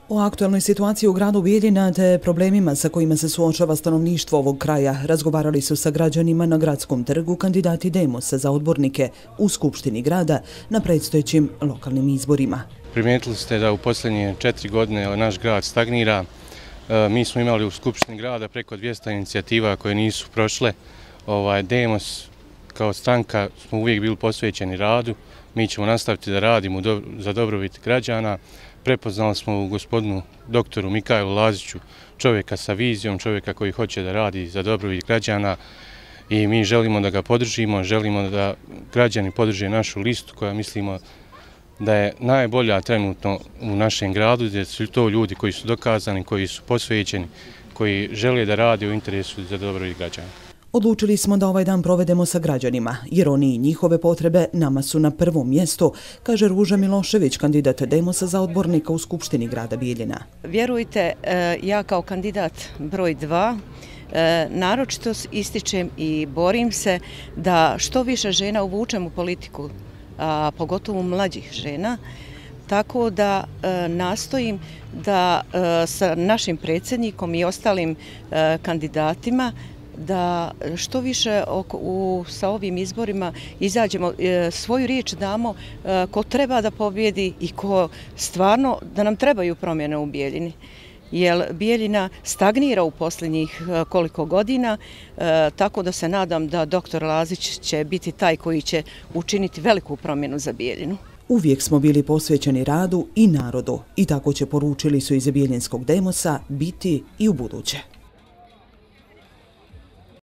O aktualnoj situaciji u gradu Bijeljina te problemima sa kojima se suočava stanovništvo ovog kraja razgovarali su sa građanima na gradskom trgu kandidati Demosa za odbornike u Skupštini grada na predstojećim lokalnim izborima. Primijetili ste da u posljednje 4 godine naš grad stagnira. Mi smo imali u Skupštini grada preko 200 inicijativa koje nisu prošle. Demos kao stranka smo uvijek bili posvećeni radu. Mi ćemo nastaviti da radimo za dobrobit građana. Prepoznali smo u gospodinu doktoru Mikaju Laziću čovjeka sa vizijom, čovjeka koji hoće da radi za dobrobit građana i mi želimo da ga podržimo, želimo da građani podrže našu listu koja mislimo da je najbolja trenutno u našem gradu, gdje su to ljudi koji su dokazani, koji su posvećeni, koji žele da rade u interesu za dobrobit građana. Odlučili smo da ovaj dan provedemo sa građanima, jer oni i njihove potrebe nama su na prvom mjestu, kaže Ruža Milošević, kandidat Demosa za odbornika u Skupštini grada Bijeljina. Vjerujte, ja kao kandidat broj 2 naročito ističem i borim se da što više žena uvučem u politiku, a pogotovo mlađih žena, tako da nastojim da sa našim predsjednikom i ostalim kandidatima da što više sa ovim izborima izađemo, svoju riječ damo ko treba da pobjedi i ko stvarno da nam trebaju promjene u Bijeljini. Jer Bijeljina stagnira u posljednjih koliko godina, tako da se nadam da doktor Lazić će biti taj koji će učiniti veliku promjenu za Bijeljinu. Uvijek smo bili posvećeni radu i narodu i tako će, poručili su iz Bijeljinskog Demosa, biti i u buduće.